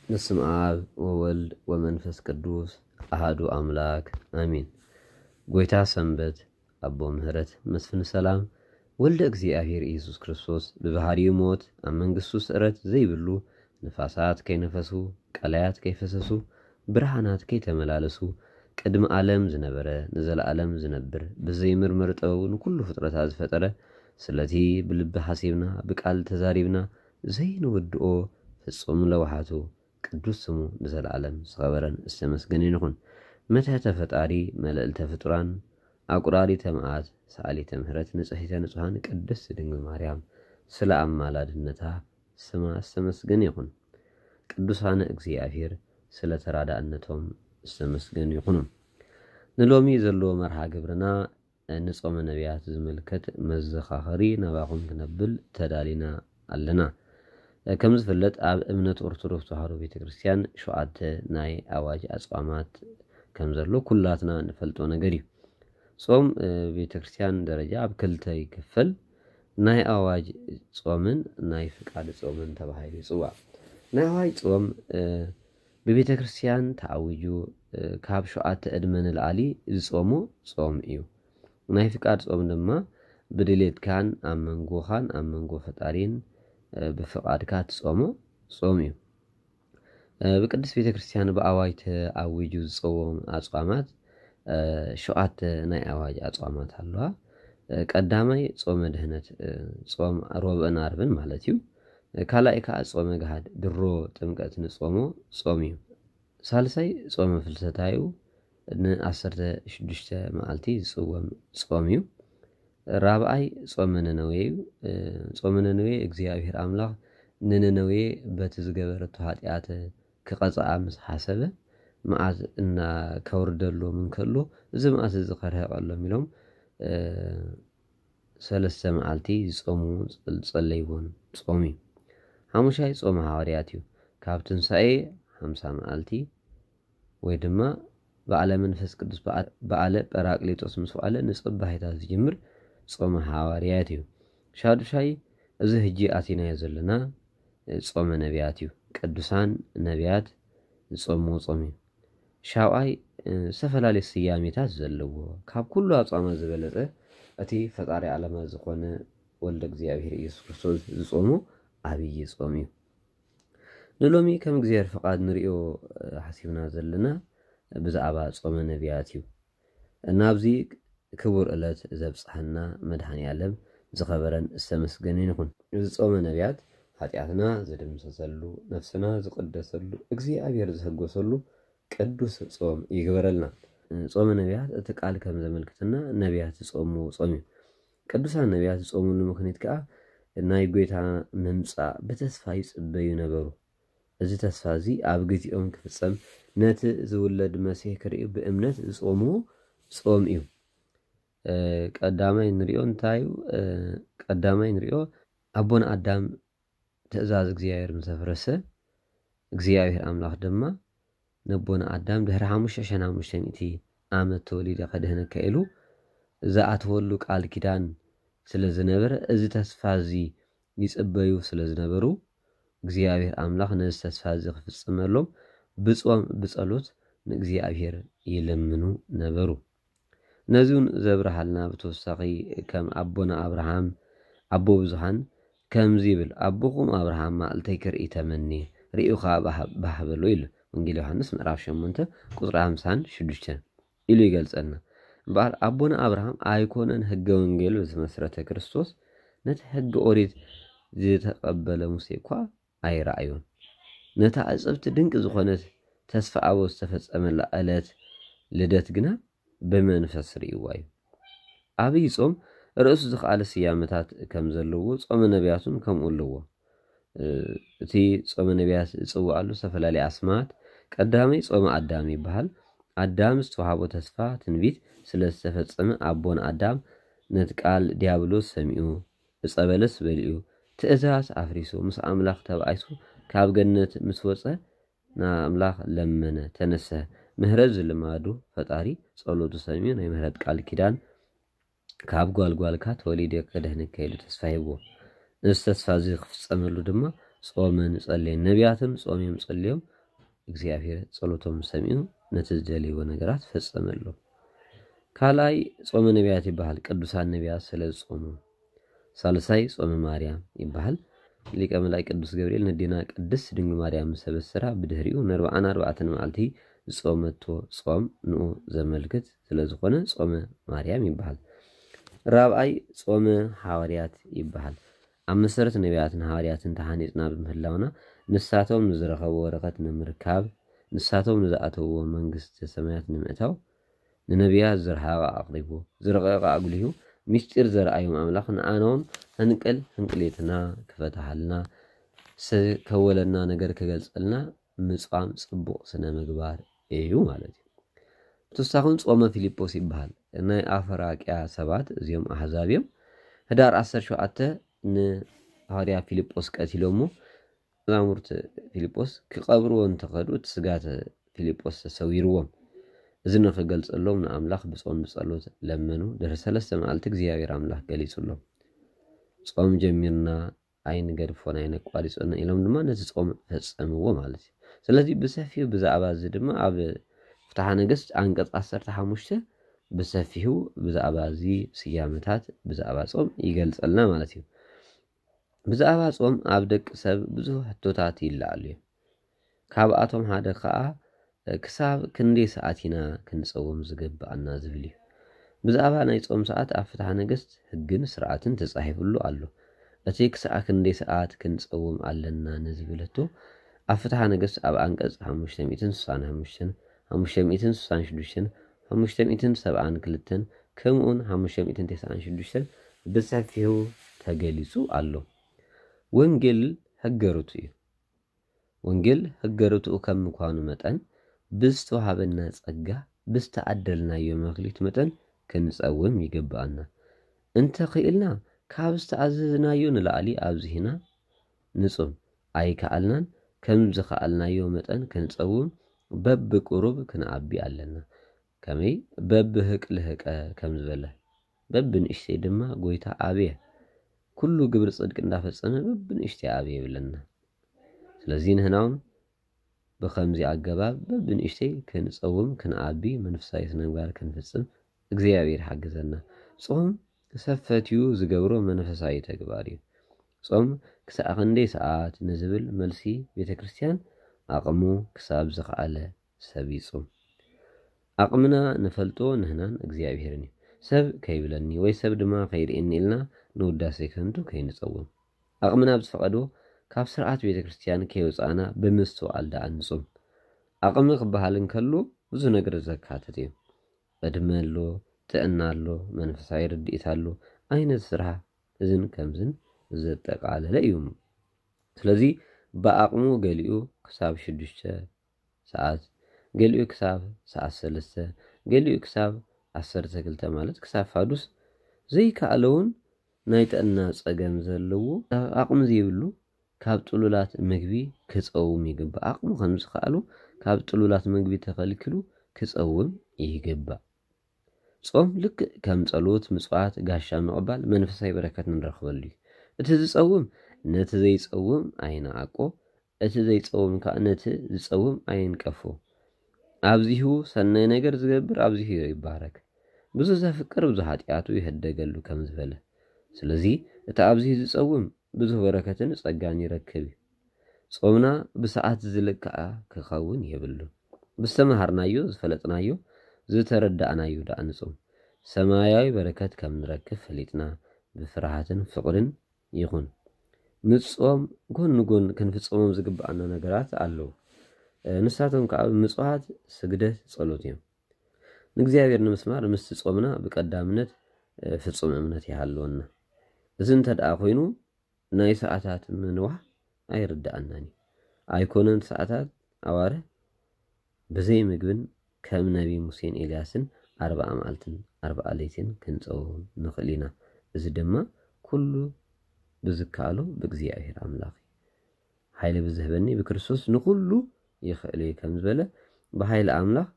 በስመ አብ ወወልድ ወመንፈስ ቅዱስ አሃዱ አምላክ አሚን። ጎይታ ሰንበት፣ አቦ ምህረት፣ መስፍን ሰላም፣ ወልደ እግዚኣብሔር ኢየሱስ ክርስቶስ ብባህሪኡ ሞት፣ ኣብ መንግስቱ ስዕረት ዘይብሉ፣ ንፋሳት ከይነፈሱ፣ ቀላያት ከይፈሰሱ፣ ብርሃናት ከይተመላለሱ፣ ቅድሚ ዓለም ዝነበረ፣ ንዘለዓለም ዝነብር፣ ብዘይምርመር ጥበቡ ንኩሉ ፍጥረታት ዝፈጠረ፣ ስለቲ ብልቢ ሓሲብና፣ ብቃል ተዛሪብና ዘይንውድኦ ፍጹም ለውሃቱ ቅዱስ ስሙ ንዘለዓለም ዝኸበረን ዝተመስገነን ይኹን። መትሕተ ፈጣሪ፣ መልዕልተ ፍጡራን፣ ኣቁራሪተ መዓት፣ ሰኣሊተ ምሕረት፣ ንጽሕተ ንጹሃን ቅድስት ድንግል ማርያም ስለ ኣማላድነታ ስማ ዝተመስገነ ይኹን። ቅዱሳነ እግዚኣብሔር ስለ ተራዳእነቶም ዝተመስገኑ ይኹኑ። ንሎሚ ዘለዎ መርሃ ግብርና ንጾመ ነቢያት ዝምልከት መዘኻኸሪ ናባኹም ክነብል ተዳሊና ኣለና። ከም ዝፍለጥ ኣብ እምነት ኦርቶዶክስ ተዋህዶ ቤተክርስትያን ሸውዓተ ናይ ኣዋጅ ኣጽዋማት ከም ዘሎ ኩላትና ንፈልጦ ነገር እዩ። ጾም ቤተክርስትያን ደረጃ ኣብ ክልተ ይክፈል። ናይ ኣዋጅ ጾምን ናይ ፍቃድ ጾምን ተባሂሉ ይጽዋዕ። ናይ ኣዋጅ ጾም ብቤተክርስትያን ተኣዊጁ ካብ ሸውዓተ ዕድመ ንላዕሊ ዝጾሞ ጾም እዩ። ናይ ፍቃድ ጾም ድማ ብድሌትካን ኣብ መንጎኻን ኣብ መንጎ ፈጣሪን ብፍቃድካ ትጾሞ ጾም እዩ። ብቅድስት ቤተክርስትያን ብኣዋጅ ተኣዊጁ ዝጸዎም ኣጽዋማት ሸውዓተ ናይ ኣዋጅ ኣጽዋማት ኣለዋ። ቀዳማይ ጾመ ድህነት፣ ጾም ሮብእን ዓርብን ማለት እዩ። ካልኣይ ከዓ ጾመ ገሃድ ድሮ ጥምቀት ንጾሞ ጾም እዩ። ሳልሳይ ጾመ ፍልሰታዩ ንዓሰርተ ሽዱሽተ መዓልቲ ዝጽወም ጾም እዩ። ራብኣይ ጾመ ነነዌ እዩ። ጾመ ነነዌ እግዚኣብሔር ኣምላኽ ንነነዌ በቲ ዝገበረቶ ኃጢኣት ክቐጽኣ ምስ ሓሰበ መዓት እና ከውርደሎም እንከሎ እዚ መዓት እዚ ከርህቐሎም ኢሎም ሰለስተ መዓልቲ ዝጾሙ ዝጸለይዎን ጾም እዩ። ሓሙሻይ ጾመ ሃዋርያት እዩ። ካብ ትንሳኤ ሓምሳ መዓልቲ ወይ ድማ በዓለ መንፈስ ቅዱስ በዓለ ጳራቅሊጦስ ምስ በዓለ ንጽባሒታት ዝጅምር ጾመ ሃዋርያት እዩ። ሻዱሻይ እዚ ህጂ ኣቲናዮ ዘለና ጾመ ነቢያት እዩ። ቅዱሳን ነቢያት ዝጾምዎ ጾም እዩ። ሻውዓይ ዝተፈላለዩ ስያሜታት ዘለዎ ካብ ኩሉ ኣጽዋማት ዝበለጸ እቲ ፈጣሪ ዓለማት ዝኾነ ወልደ እግዚኣብሔር ኢየሱስ ክርስቶስ ዝጾሞ ዓብዪ ጾም እዩ። ንሎሚ ከም እግዚኣብሔር ፍቓድ ንሪኦ ሓሲብና ዘለና ብዛዕባ ጾመ ነቢያት እዩ። ናብዚ ክቡር ዕለት ዘብጽሐና መድኃኔ ዓለም ዝኸበረን ዝተመስገነን ይኹን። እዚ ጾመ ነቢያት ኃጢኣትና ዝድምሰሰሉ፣ ነፍስና ዝቅደሰሉ፣ እግዚኣብሔር ዝህጎሰሉ ቅዱስ ጾም ይግበረልና። ጾመ ነቢያት እቲ ቃል ከም ዘመልክትና ነቢያት ዝጾምዎ ጾም እዩ። ቅዱሳን ነቢያት ዝጾምሉ ምኽንያት ከዓ ናይ ጐይታ ምምጻእ ብተስፋ ይጽበዩ ነበሩ። እዚ ተስፋ እዚ ኣብ ግዜኦም ክፍጸም ነቲ ዝውለድ መሲሕ ክርእዩ ብእምነት ዝጾምዎ ጾም እዩ። ቀዳማይ ንሪኦ እንታይ እዩ? ቀዳማይ ንሪኦ ኣቦና ኣዳም ትእዛዝ እግዚኣብሔር ምስ ኣፍረሰ እግዚኣብሔር ኣምላኽ ድማ ነቦና ኣዳም ድሕሪ ሓሙሽተ ሽሕን ሓሙሽተ ሚእቲ ዓመት ተወሊደ ከድህነካ ኢሉ ዝኣተወሉ ቃል ኪዳን ስለ ዝነበረ እዚ ተስፋ እዚ ይጽበዩ ስለ ዝነበሩ እግዚኣብሔር ኣምላኽ ነዚ ተስፋ እዚ ክፍጽመሎም ብጾም ብጸሎት ንእግዚኣብሔር ይልምኑ ነበሩ። ነዚ እውን ዘብርሃልና ብተወሳኺ ከም ኣቦና ኣብርሃም ኣቦ ብዙሃን ከምዚ ይብል፣ ኣቦኹም ኣብርሃም መዓልተይ ክርኢ ተመኒ ርእዩ ኸዓ ባህ በሎ ኢሉ። ወንጌል ዮሃንስ ምዕራፍ ሸሞንተ ቁፅሪ ሓምሳን ሽዱሽተን ኢሉ ይገልፀልና። እምበኣር ኣቦና ኣብርሃም ኣይኮነን ሕገ ወንጌል ብዝመስረተ ክርስቶስ ነቲ ሕገ ኦሪት ዝተቐበለ ሙሴ እኳ ኣይረኣዮን። ነታ ዕፅብቲ ድንቂ ዝኾነት ተስፋ ኣቦ ዝተፈጸመላ ዕለት ልደት ግና ብመንፈስ ርእይዋ እዩ። ኣብይ ጾም ርእሱ ዝኸኣለ ስያመታት ከም ዘለዎ ጾመ ነቢያት እውን ከምኡ ኣለዎ። እቲ ጾመ ነቢያት ዝጽውዓሉ ዝተፈላለየ ኣስማት ቀዳመይ ጾመ ኣዳም ይበሃል። ኣዳም ዝተዋህቦ ተስፋ ትንቢት ስለ ዝተፈጸመ ኣቦን ኣዳም ነቲ ቃል ዲያብሎስ ሰሚዑ ዕፀ በለስ በሊዑ ትእዛዝ ኣፍሪሱ ምስ ኣምላኽ ተባኢሱ ካብ ገነት ምስ ወፀ ንኣምላኽ ለመነ፣ ተነስሐ። ምህረት ዝልማዱ ፈጣሪ ጸሎቱ ሰሚዑ ናይ ምህረት ቃል ኪዳን ካብ ጓልጓልካ ተወሊደ ከድህነካ ኢሉ ተስፋ ሂብዎ። እዚ ተስፋ እዚ ክፍጸመሉ ድማ ጾምን ጸልየን። ነቢያትም ጾምዮም ጸልዮም እግዚኣብሔር ጸሎቶም ሰሚዑ ነቲ ዝደልይዎ ነገራት ፈጸመሎም። ካልኣይ ጾመ ነቢያት ይበሃል። ቅዱሳን ነቢያት ስለ ዝጾሙ። ሳልሳይ ጾመ ማርያም ይበሃል። ሊቀ መላእክት ቅዱስ ገብርኤል ነዴና ቅድስት ድንግል ማርያም ምስ ኣበሰራ ብድሕሪኡ ንኣርብዓን ኣርባዕተን መዓልቲ ዝጾመቶ ጾም ንኡ ዘመልክት ስለ ዝኾነ ጾመ ማርያም ይበሃል። ራብዓይ ጾመ ሃዋርያት ይበሃል። ኣብ መሰረት ነቢያትን ሃዋርያትን ተሃኒጽና ብምህላውና ንሳቶም ንዝረኸቡ በረኸት ንምርካብ ንሳቶም ንዝኣተውዎ መንግስተ ሰማያት ንምእታው ንነቢያት ዝረሃቐ ኣቕሪቡ ዝረቐቐ ኣጉሊሁ ምስጢር ዘርኣዮም ኣምላኽ ንኣናውን ህንቅል ህንቅሌትና ክፈታሃልና ዝከወለና ነገር ክገልጸልና ምጽዋም ጽቡቕ ስነ ምግባር እዩ ማለት እዩ። ተወሳኹን ጾመ ፊልጶስ ይበሃል። ናይ ኣፍራቅያ ሰባት እዚኦም ኣህዛብ እዮም። ህዳር ዓሰርተ ሸውዓተ ንሃዋርያ ፊልጶስ ቀቲሎሞ መዛሙርት ፊልጶስ ክቐብርዎ እንተኸዱ እቲ ስጋት ፊልጶስ ተሰዊርዎም። እዚ ንኽገልጸሎም ንኣምላኽ ብጾም ብጸሎት ለመኑ። ድሕሪ ሰለስተ መዓልቲ እግዚኣብሔር ኣምላኽ ገሊጹሎም። ጾም ጀሚርና ኣይንገድፎን ኣይነቋሪጾን ኢሎም ድማ ነቲ ጾም ፈጸምዎ ማለት እዩ። ስለዚ ብሰፊሑ ብዛዕባ እዚ ድማ ኣብ ፍትሓ ነገስት ኣንቀጽ ዓሰርተ ሓሙሽተ ብሰፊሑ ብዛዕባ እዚ ስያመታት ብዛዕባ ጾም ይገልጸልና ማለት እዩ። ብዛዕባ ጾም ኣብ ደቂ ሰብ ብዙሕ ሕቶታት ይለዓሉ እዮም። ካብኣቶም ሓደ ከኣ ክሳብ ክንደይ ሰዓት ኢና ክንጸውም ዝግብኣና ዝብል እዩ። ብዛዕባ ናይ ጾም ሰዓት ኣብ ፍትሓ ነገስት ህግን ስርዓትን ተጻሒፍሉ ኣሎ። እቲ ክሳዕ ክንደይ ሰዓት ክንጸውም ኣለና ንዝብል ሕቶ ኣብ ፍትሓ ነገስት ኣብ ኣንቀጽ ሓሙሽተ ሚእትን ስሳን ሓሙሽተን፣ ሓሙሽተ ሚእትን ስሳን ሽዱሽተን፣ ሓሙሽተ ሚእትን ሰብዓን ክልተን ከምኡውን ሓሙሽተ ሚእትን ተስዓን ሽዱሽተን ብሰፊሑ ተገሊጹ ኣሎ። ወንጌል ሕገ ርቱዕ እዩ። ወንጌል ሕገ ርቱዕ ከም ምዃኑ መጠን ብዝተዋሃበና ጸጋ ብዝተዓደልናዮ መክሊት መጠን ክንጸውም ይግብኣና። እንተ ኽኢልና ካብ ዝተኣዘዝናዮ ንላዕሊ ኣብዚህና ንጹም ኣይከኣልናን። ከም ዝኸኣልናዮ መጠን ክንጸውም በብቁሩብ ክንዓቢ ኣለና። ከመይ በብህቅ ልህቀ ከም ዝበለ በብንእሽተይ ድማ ጎይታ ኣብየ። ኩሉ ግብሪ ጽድቂ እንዳፈጸመ በብንእሽተይ ኣብየ ይብለና። ስለዚ ንህናውን ብኸምዚ ኣገባብ በብንእሽተይ ክንጸውም ክንዓቢ መንፈሳዊ ስነምግባር ክንፍጽም እግዚኣብሔር ሓግዘና። ጾም ሰብ ፈትዩ ዝገብሮ መንፈሳዊ ተግባር እዩ። ጾም ክሳዕ ክንደይ ሰዓት ንዝብል መልሲ ቤተ ክርስቲያን ኣቕሙ ክሳብ ዝኸኣለ ሰብ ይጹም። ኣቕምና ንፈልጦ ንህናን እግዚኣብሔርን እዩ። ሰብ ከይብለኒ ወይ ሰብ ድማ ከይርእየኒ ኢልና ንውዳሴ ከንቱ ከይንጸውም ኣቕምና ብዝፈቐዶ ካብ ስርዓት ቤተ ክርስቲያን ከይወጻእና ብምስትውዓል ደኣ ንጹም። ኣቕሚ ክበሃል እንከሎ ብዙ ነገር ዘካትት እዩ። ዕድመ ኣሎ፣ ጥዕና ኣሎ፣ መንፈሳዊ ርድኢት ኣሎ፣ ዓይነት ስራሕ እዝን ከምዝን ዘጠቓለለ እዩ። ስለዚ ብኣቕሙ ገሊኡ ክሳብ ሽዱሽተ ሰዓት፣ ገሊኡ ክሳብ ሰዓት ሰለስተ፣ ገሊኡ ክሳብ ዓሰርተ ክልተ ማለት ክሳብ ፋዱስ ዘይከኣለ እውን ናይ ጥዕና ጸገም ዘለዎ ኣቕሚ ዘይብሉ ካብ ጥሉላት ምግቢ ክጸውም ይግባእ። ኣቕሙ ከም ዝኸኣሉ ካብ ጥሉላት ምግቢ ተኸልኪሉ ክጸውም ይግባእ። ጾም ልክዕ ከም ጸሎት፣ ምጽዋት፣ ጋሻ ምቕባል መንፈሳዊ በረከት ንረኽበሉ እዩ። እቲ ዝጸውም ነቲ ዘይጸውም ኣይንዓቆ፣ እቲ ዘይጸውም ከኣ ነቲ ዝጸውም ኣይንቀፎ። ኣብዚሁ ሰናይ ነገር ዝገብር ኣብዚሁ ይባረክ። ብዙ ዘፍቅር ብዙ ኃጢኣቱ ይህደገሉ ከም ዝበለ። ስለዚ እቲ ኣብዚሁ ዝጸውም ብዙ በረከትን ጸጋን ይረክብ እዩ። ጾምና ብሰዓት ዝልክዓ ክኸውን የብሉን። ብዝተመሃርናዮ፣ ዝፈለጥናዮ፣ ዝተረዳእናዮ ደኣ ንጾም። ሰማያዊ በረከት ከም ንረክብ ፈሊጥና ብፍርሃትን ፍቕርን ይኹን። ንጾም ጎን ንጎን ክንፍጽሞም ዝግብኣና ነገራት ኣለዉ። እ፣ ንሳቶም ከኣ ምጽዋት፣ ስግደት፣ ጸሎት እዮም። ንእግዚኣብሔር ንምስማር ምስቲ ጾምና ብቀዳምነት፣ እ፣ ፍጹም እምነት ይሃልወና። እዚ እንተ ደኣ ኮይኑ ናይ ሰዓታት ምንዋሕ ኣይርድኣናን እዩ። ኣይኮነን ሰዓታት ኣዋርሕ ብዘይ ምግብን ከም ነቢ ሙሴን ኤልያስን ኣርብዓ መዓልትን ኣርብዓ ለይትን ክንጸውም ንኽእል ኢና። እዚ ድማ ኩሉ ብዝከኣሎ ብእግዚኣብሔር ኣምላኽ እዩ። ሓይሊ ብዝህበኒ ብክርስቶስ ንኹሉ ይኽእል እየ ከም ዝበለ ብሓይሊ ኣምላኽ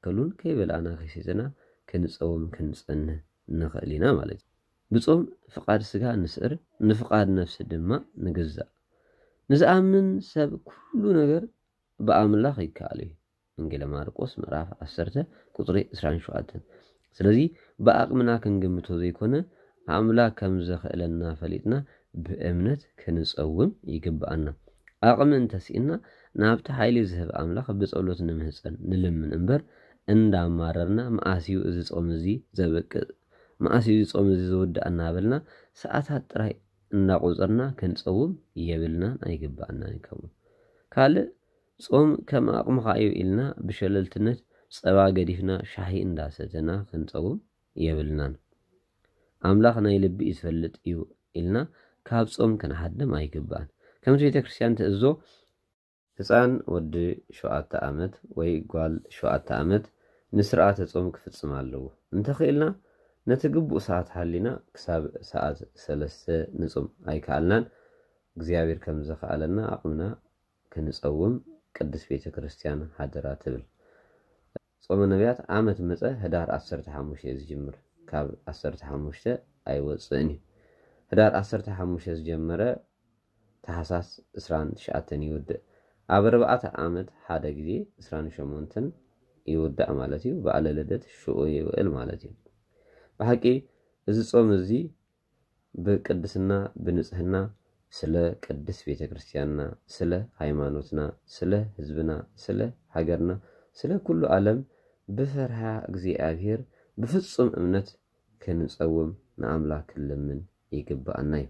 ከሉን ከይበላዕና ከይሰተና ክንጸውም ክንጸንህ ንኽእል ኢና ማለት እዩ። ብጾም ፍቓድ ስጋ ንስዕር፣ ንፍቓድ ነፍሲ ድማ ንግዛእ። ንዝኣምን ሰብ ኩሉ ነገር ብኣምላኽ ይከኣል እዩ። ወንጌለ ማርቆስ ምዕራፍ ዓሰርተ ቁፅሪ ዕስራን ሸውዓተን። ስለዚ ብኣቕምና ክንግምቶ ዘይኮነ ኣምላኽ ከም ዘኽእለና ፈሊጥና ብእምነት ክንፀውም ይግብኣና። ኣቕሚ እንተስኢና ናብቲ ሓይሊ ዝህብ ኣምላኽ ብጸሎት ንምህጸን ንልምን እምበር እንዳማረርና መኣስዩ እዚ ጾም እዚ ዘበቅዕ መኣስዩ እዚ ጾም እዚ ዝውዳእ እናበልና ሰዓታት ጥራይ እንዳቆጸርና ክንጸውም የብልናን ኣይግባኣናን እዩ። ከምኡ ካልእ ጾም ከም ኣቕምኻ እዩ ኢልና ብሸለልትነት ጸባ ገዲፍና ሻሂ እንዳሰተና ክንጸውም የብልናን። ኣምላኽ ናይ ልቢ እዩ ዝፈልጥ እዩ ኢልና ካብ ጾም ክንሓድም ኣይግባን። ከምቲ ቤተ ክርስቲያን ትእዞ ህፃን ወዲ ሸውዓተ ዓመት ወይ ጓል ሸውዓተ ዓመት ንስርዓተ ጾም ክፍጽም ኣለዎ። እንተኽኢልና ነቲ ግቡእ ሰዓት ሓሊና ክሳብ ሰዓት ሰለስተ ንጾም ኣይከኣልናን። እግዚኣብሔር ከም ዘኽኣለና ኣቕምና ክንጸውም ቅድስት ቤተ ክርስቲያን ሓደራ ትብል። ጾመ ነቢያት ዓመት መጸ ህዳር ዓሰርተ ሓሙሽተ እዩ ዝጅምር። ካብ ዓሰርተ ሓሙሽተ ኣይወጽእን እዩ። ህዳር ዓሰርተ ሓሙሽተ ዝጀመረ ታሕሳስ ዕስራን ትሽዓተን ይውድእ። ኣብ ኣርባዕተ ዓመት ሓደ ግዜ ዕስራን ሸሞንተን ይውዳእ ማለት እዩ። በዓለ ልደት ሽዑ ይውዕል ማለት እዩ። ብሓቂ እዚ ጾም እዚ ብቅድስና ብንጽህና ስለ ቅድስት ቤተ ክርስቲያንና፣ ስለ ሃይማኖትና፣ ስለ ህዝብና፣ ስለ ሃገርና፣ ስለ ኩሉ ዓለም ብፈርሃ እግዚኣብሔር ብፍጹም እምነት ክንጸውም ንኣምላኽ ክንልምን ይግብኣና እዩ።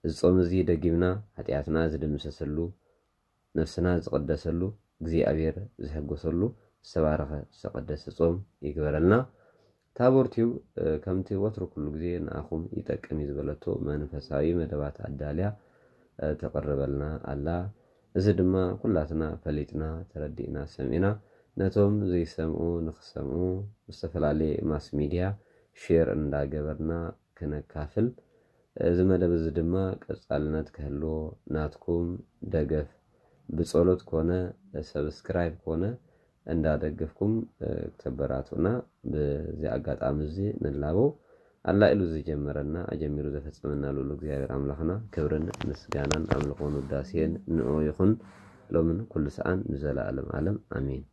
እዚ ጾም እዚ ደጊምና ሓጢኣትና ዝድምሰሰሉ፣ ነፍስና ዝቕደሰሉ፣ እግዚኣብሔር ዝሕጎሰሉ ዝተባረኸ ዝተቐደሰ ጾም ይግበረልና። ታቦር ቲዩብ ከምቲ ወትሩ ኩሉ ግዜ ንኣኹም ይጠቅም እዩ ዝበለቶ መንፈሳዊ መደባት ኣዳልያ ተቕርበልና ኣላ። እዚ ድማ ኩላትና ፈሊጥና ተረዲእና ሰሚዕና ነቶም ዘይሰምዑ ንክሰምዑ ዝተፈላለየ ማስ ሚድያ ሼር እንዳገበርና ክነካፍል፣ እዚ መደብ እዚ ድማ ቀጻልነት ክህልዎ ናትኩም ደገፍ ብጸሎት ኮነ ሰብስክራይብ ኮነ እንዳደገፍኩም ክተበራቱና በዚ ኣጋጣሚ እዚ ንላቦ። ኣላኢሉ ዝጀመረና ኣጀሚሩ ዘፈጸመና ልኡል እግዚኣብሔር ኣምላኽና ክብርን ምስጋናን ኣምልኾን ውዳሴን ንዑ ይኹን ሎምን ኩሉ ሰዓን ንዘለኣለም ዓለም ኣሜን።